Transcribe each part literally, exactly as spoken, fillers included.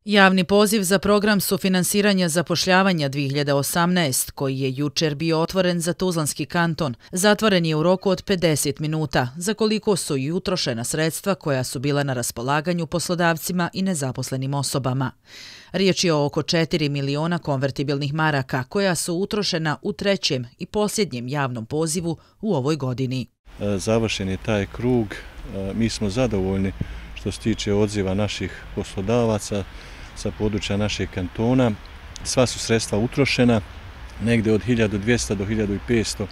Javni poziv za program sufinansiranja zapošljavanja dvije hiljade osamnaest, koji je jučer bio otvoren za Tuzlanski kanton, zatvoren je u roku od pedeset minuta, za koliko su i utrošena sredstva koja su bila na raspolaganju poslodavcima i nezaposlenim osobama. Riječ je o oko četiri miliona konvertibilnih maraka koja su utrošena u trećem i posljednjem javnom pozivu u ovoj godini. Završen je taj krug, mi smo zadovoljni što se tiče odziva naših poslodavaca sa područja našeg kantona. Sva su sredstva utrošena, negdje od hiljadu dvjesto do hiljadu petsto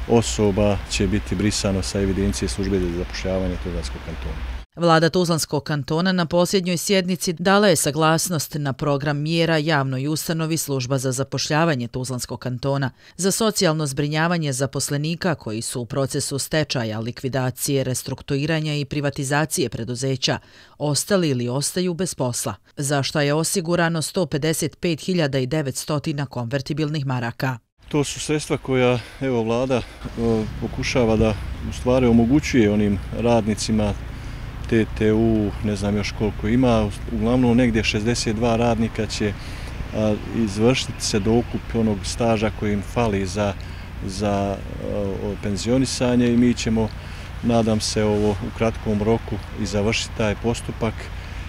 osoba će biti brisano sa evidencije službe za zapošljavanje Tuzlanskog kantona. Vlada Tuzlanskog kantona na posljednjoj sjednici dala je saglasnost na program mjera javnoj ustanovi Služba za zapošljavanje Tuzlanskog kantona za socijalno zbrinjavanje zaposlenika koji su u procesu stečaja, likvidacije, restrukturiranja i privatizacije preduzeća ostali ili ostaju bez posla, za što je osigurano sto pedeset pet hiljada devetsto konvertibilnih maraka. To su sredstva koja evo vlada o, pokušava da u stvari omogućuje onim radnicima T T U, ne znam još koliko ima, uglavnom negdje šezdeset dva radnika će a, izvršiti se dokup onog staža koji im fali za, za a, penzionisanje i mi ćemo, nadam se, ovo u kratkom roku i završiti taj postupak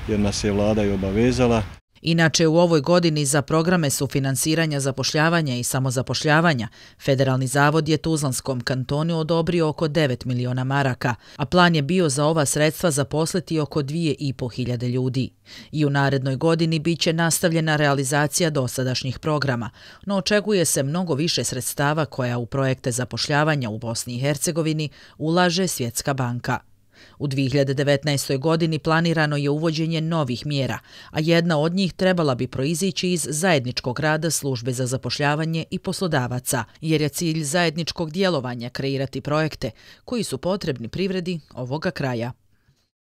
jer nas je vlada i obavezala. Inače, u ovoj godini za programe sufinansiranja zapošljavanja i samozapošljavanja Federalni zavod je Tuzlanskom kantonu odobrio oko devet miliona maraka, a plan je bio za ova sredstva zaposliti oko dvije i po hiljade ljudi. I u narednoj godini bit će nastavljena realizacija dosadašnjih programa, no očekuje se mnogo više sredstava koja u projekte zapošljavanja u Bosni i Hercegovini ulaže Svjetska banka. U dvije hiljade devetnaestoj. godini planirano je uvođenje novih mjera, a jedna od njih trebala bi proizići iz zajedničkog rada Službe za zapošljavanje i poslodavaca, jer je cilj zajedničkog djelovanja kreirati projekte koji su potrebni privredi ovoga kraja.